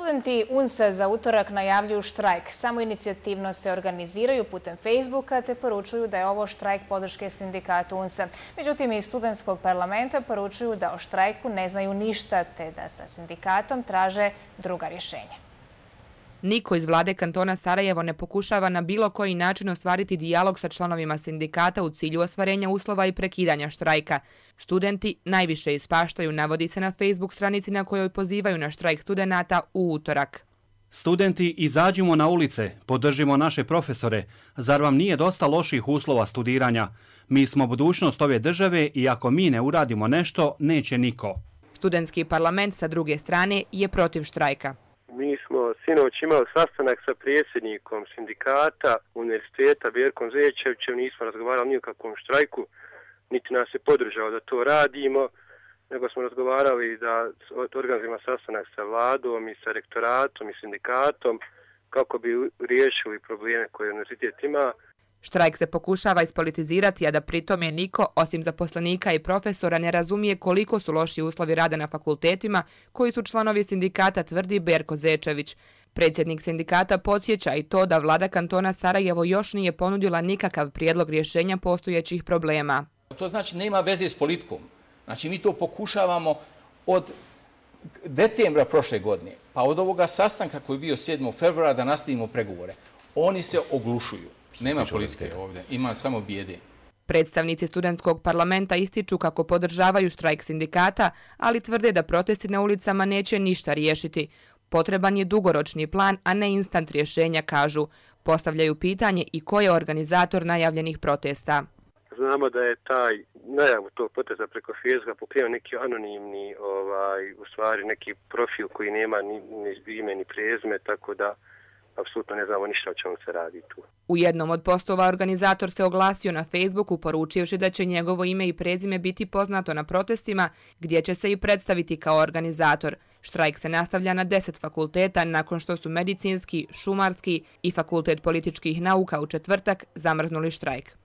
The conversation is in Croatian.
Studenti UNS-a za utorak najavljuju štrajk. Samoinicijativno se organiziraju putem Facebooka te poručuju da je ovo štrajk podrške sindikatu UNS-a. Međutim, iz studentskog parlamenta poručuju da o štrajku ne znaju ništa te da sa sindikatom traže druga rješenja. Niko iz vlade kantona Sarajevo ne pokušava na bilo koji način ostvariti dijalog sa članovima sindikata u cilju ostvarenja uslova i prekidanja štrajka. Studenti najviše ispaštaju, navodi se na Facebook stranici na kojoj pozivaju na štrajk studenata u utorak. Studenti, izađimo na ulice, podržimo naše profesore. Zar vam nije dosta loših uslova studiranja? Mi smo budućnost ove države i ako mi ne uradimo nešto, neće niko. Studentski parlament sa druge strane je protiv štrajka. Mi smo sinoć imali sastanak sa predsjednikom sindikata univerziteta Berkom Zečevićem, nismo razgovarali ni o kakvom štrajku, niti nas je podržao da to radimo, nego smo razgovarali da organizujemo sastanak sa vladom i sa rektoratom i sindikatom kako bi riješili probleme koje univerzitet ima. Štrajk se pokušava ispolitizirati, a da pritome niko, osim zaposlenika i profesora, ne razumije koliko su loši uslovi rada na fakultetima koji su članovi sindikata, tvrdi Berko Zečević. Predsjednik sindikata podsjeća i to da vlada kantona Sarajevo još nije ponudila nikakav prijedlog rješenja postojećih problema. To znači nema veze s politikom. Znači mi to pokušavamo od decembra prošle godine, pa od ovoga sastanka koji je bio 7. februara da nastavimo pregovore. Oni se oglušuju. Nema politike ovdje, ima samo bijede. Predstavnici studentskog parlamenta ističu kako podržavaju štrajk sindikata, ali tvrde da protesti na ulicama neće ništa riješiti. Potreban je dugoročni plan, a ne instant rješenja, kažu. Postavljaju pitanje i ko je organizator najavljenih protesta. Znamo da je taj najavu tog protesta preko Facebooka pokrenuo neki anonimni, u stvari neki profil koji nema ni ime ni prezime, tako da apsolutno ne znamo ništa o čemu se radi tu. U jednom od postova organizator se oglasio na Facebooku poručivši da će njegovo ime i prezime biti poznato na protestima gdje će se i predstaviti kao organizator. Štrajk se nastavlja na 10 fakulteta nakon što su medicinski, šumarski i fakultet političkih nauka u četvrtak zamrznuli štrajk.